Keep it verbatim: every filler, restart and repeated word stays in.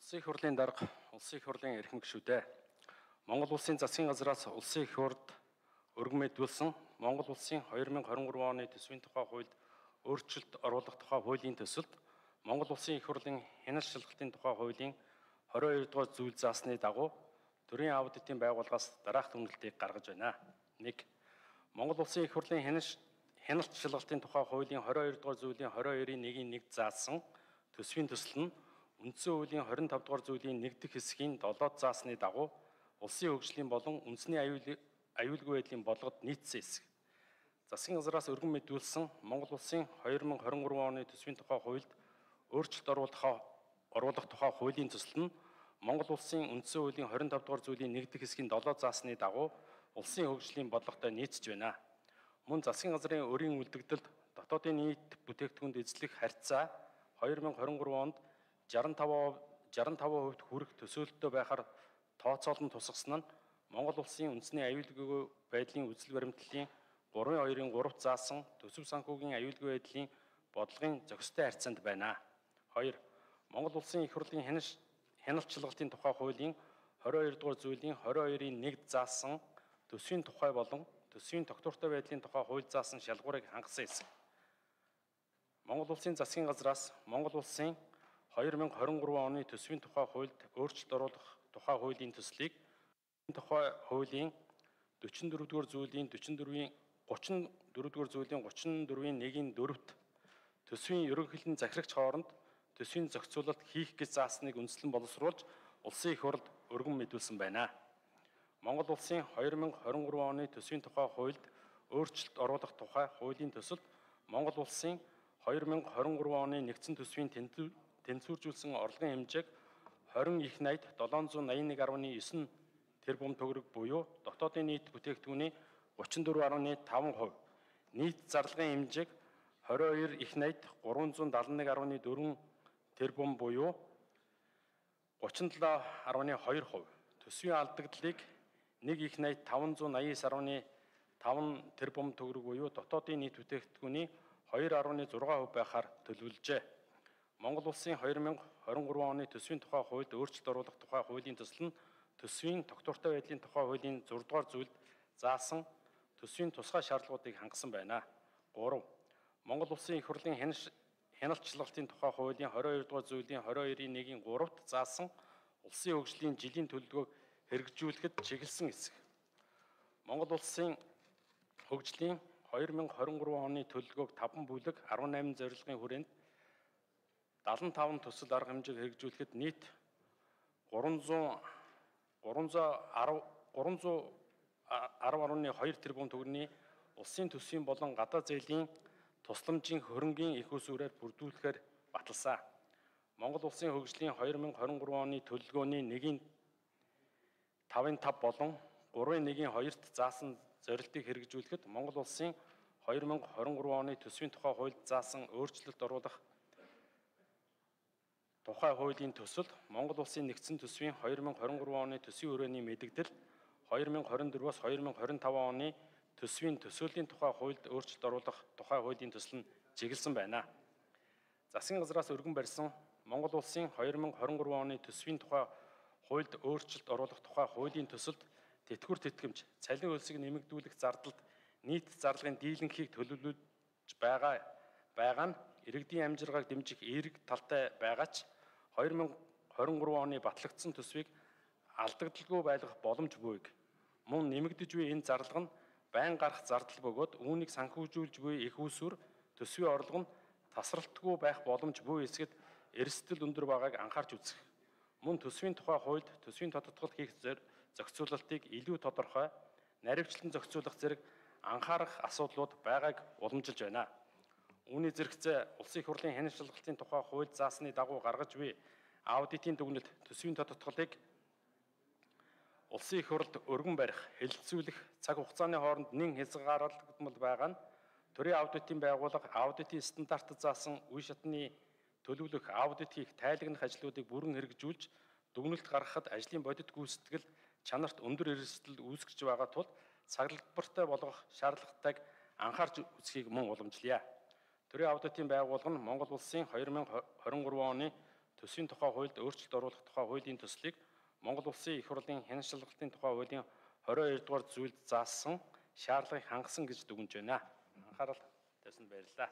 Улсын их хурлын дарга, улсын их хурлын эрхэм гишүүдээ Монгол улсын засгийн газраас улсын их хурлд өргөн мэдүүлсэн Монгол улсын хоёр мянга хорин гурван оны төсвийн тухай хуульд өөрчлөлт оруулах тухай хуулийн төсөлд Монгол улсын их хурлын хяналт шалгалтын тухай хуулийн хорин хоёр дугаар зүйл заасны дагуу төрийн аудитын байгууллагаас дараах дүгнэлтийг гаргаж байна. нэг. Монгол улсын их хурлын хяналт шалгалтын тухай хуулийн хорин хоёр дугаар зүйлийн хорин хоёрын нэгний нэг заасан төсвийн төсөл нь үндсэн хуулийн хорин тав дугаар зүйлийн нэг дэх хэсгийн долоод заасны дагуу улсын хөгжлийн болон үндэсний аюулгүй байдлын болгоод нийцсэн хэсэг. Засгийн газраас өргөн мэдүүлсэн Монгол улсын хоёр мянга хорин гурван оны төсвийн тухай хуульд өөрчлөлт оруулах оруулах тухай хуулийн төсөл нь Монгол улсын үндсэн хуулийн хорин тав дугаар зүйлийн нэг дэх хэсгийн долоод заасны дагуу улсын хөгжлийн бодлоготой нийцэж байна. Мөн засгийн газрын өрийн үлдэгдэлд дотоодын нийт бүтээгдэхүүнд эзлэх харьцаа хоёр мянга хорин гурван онд жаран таван хувьд хүрэх төсөөлөлтөй байхаар тооцоолон тусгасан нь Монгол улсын үндэсний аюулгүй байдлын үзэл баримтлалын гурван хоёрын гуравт заасан төсөв санхүүгийн аюулгүй байдлын бодлогын зохистой харьцаанд байна. хоёр. Монгол улсын их хурлын хяналт шалгалтын тухай хуулийн хорин хоёр дугаар зүйлийн хорин хоёрын нэг заасан төсвийн тухай болон төсвийн тогтвортой байдлын тухай хууль заасан шалгуурыг хангасан хэсэг. Монгол улсын засгийн газраас Монгол улсын хоёр мянга хорин гурван оны төсвийн тухай хуульд өөрчлөлт оруулах тухай хуулийн төслийг тухай хуулийн дөрвөн дугаар зүйлийн дөрвөн дөрвийн гучин дөрвөн дугаар зүйлийн гучин дөрвийн нэгний дөрөвт төсвийн ерөнхийлөн захирагч хооронд төсвийн зохицуулалт хийх гэж заасныг үндслэн боловсруулж улсын их хурлд өргөн мэдүүлсэн байна. Монгол улсын хоёр мянга хорин гурван оны төсвийн тухай хуульд өөрчлөлт оруулах тухай хуулийн төсөлд Монгол улсын хоёр мянга хорин гурван оны нэгдсэн төсвийн тэнцвэржүүлсэн орлогын хэмжээг хорин их найд долоон зуун наяа нэг гаруй девять тэрбум төгрөг буюу дотоодын нийт бүтээгдэхүүний гучин дөрвөн гаруй таван хувь, нийт зарлагын хэмжээг хорин хоёр их найд гурван зуун даатан нэг гаруй дөрвөн тэрбум буюу гучин долоо гаруй хоёр хувь, төсвийн алдагдлыг нэг их найд таван зуун наяа девять гаруй таван тэрбум төгрөг буюу дотоодын нийт бүтээгдэхүүний хоёр гаруй зургаан хувь байхаар төлөвлөжээ. Монгол улсын хоёр мянга хорин гурван оны төсвийн тухай хуульд өөрчлөлт оруулах тухай хуулийн төсөл нь төсвийн тогтвортой байдлын тухай хуулийн зургаан дугаар зүйлд заасан төсвийн тусгай шаардлагуудыг хангасан байна. гурав. Монгол улсын их хурлын хяналт шалгалтын тухай хуулийн хорин хоёр дугаар зүйлийн хорин хоёрын нэгний гуравт заасан улсын хөгжлийн жилийн төлөвлөгөөг хэрэгжүүлэхэд чиглэсэн хэсэг. Монгол улсын хөгжлийн хоёр мянга хорин гурван оны төлөвлөгөөг таван бүлэг арван найман зорилгын хүрээнд даатан таван төсөл арга хэмжээг хэрэгжүүлэхэд нийт гурван зуун арав гаруй хоёр тэрбум төгрөгийн улсын төсвийн болон гадаад зээлийн тусламжийн хөрөнгийн их усүрээр бүрдүүлэхээр баталсан. Монгол улсын хөгжлийн хоёр мянга хорин гурван оны төлөвлөгөөний нэгний тавын тав болон гурван нэгний хоёрт заасан зорилтыг хэрэгжүүлэхэд Монгол улсын хоёр мянга хорин гурван оны төсвийн тухай хуульд заасан өөрчлөлт оруулах тухай хуулийн төсөл Монгол улсын нэгдсэн төсвийн хоёр мянга хорин гурван оны төсвийн хүрээний мэдэгдэл хоёр мянга хорин дөрвөөс хоёр мянга хорин таван оны төсвийн төсөөлийн тухай хуульд өөрчлөлт оруулах тухай хуулийн төсөл нь чиглэсэн байна. Засгийн газраас өргөн барьсан Монгол улсын хоёр мянга хорин гурван оны төсвийн тухай хуульд өөрчлөлт оруулах тухай хуулийн төсөлд тэтгэвэр тэтгэмж, цалин хөлсийг нэмэгдүүлэх зардалд нийт зарлагын дийлэнхийг төлөвлөж байгаа байгаа нь иргэдийн амжиргааг дэмжих эерэг талтай байгаа ч хоёр мянга хорин гурван оны батлагдсан төсвийг алдагдaltaгүй байлгах боломж буйг. Мөн нэмэгдэж буй энэ зарлага нь байн гарах зардал бөгөөд үүнийг санхүүжүүлж буй их усүр төсвийн орлого нь тасралтгүй байх боломж буй хэсгэд эрсдэл өндөр байгааг анхаарч үзэх. Мөн төсвийн тухай хуульд төсвийн тодтогдол хийх зохицуулалтыг илүү тодорхой, наривчлан зохицуулах зэрэг анхаарах асуудлууд байгааг уламжилж байна. Үүний зэрэгцээ улсын их хурлын хяналт шалгалтын тухай хууль заасны дагуу гаргаж буй аудитын дүгнэлт төсвийн тодтголыг улсын их хурлд өргөн барих, хэлэлцүүлэх цаг хугацааны хооронд нэн хязгаарлагдмал байгаа нь төрийн аудитын байгууллага аудитын стандартад заасан үе шатны төлөвлөх аудит хийх тайлагнах ажлуудыг бүрэн хэрэгжүүлж дүгнэлт гаргахад ажлын бодит гүйцэтгэл чанарт өндөр эрсдэл үүсгэж байгаа тул цаглагбартай болгох шаардлагатайг анхаарч үзхийг мөн уламжлая. Төрийн аудитын байгууллага нь Монгол улсын хоёр мянга хорин гурван оны төсвийн тухай хуульд өөрчлөлт оруулах тухай хуулийн төслийг Монгол Улсын их хурлын хяналтын тухай хуулийн двадцать хоёр дугаар зүйлд заасан шаардлагыг хангасан гэж дүгнэж байна. Анхаарал тавьсанд баярлалаа.